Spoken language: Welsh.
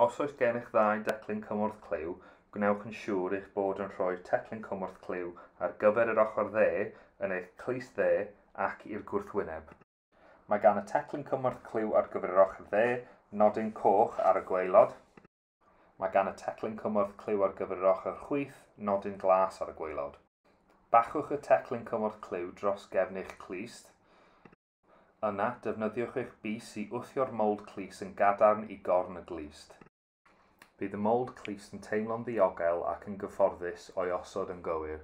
Os oes gennych ddau declyn cymorth clyw, gwnewch yn siŵr eich bod yn rhoi'r teclyn cymorth clyw ar gyfer yr ochr dde yn eich clust dde ac i'r gwrthwyneb. Mae gan y teclyn cymorth clyw ar gyfer yr ochr dde nodyn coch ar y gwaelod. Mae gan y teclyn cymorth clyw ar gyfer yr ochr chwith nodyn glas ar y gwaelod. Bachwch y teclyn cymorth clyw dros gefn eich clust. Yna, defnyddiwch eich bys i wthio'r mowld clust yn gadarn i gorn y glust. Bydd y mowld clust yn teimlo'n ddiogel ac yn gyfforddus o'i osod yn gywir.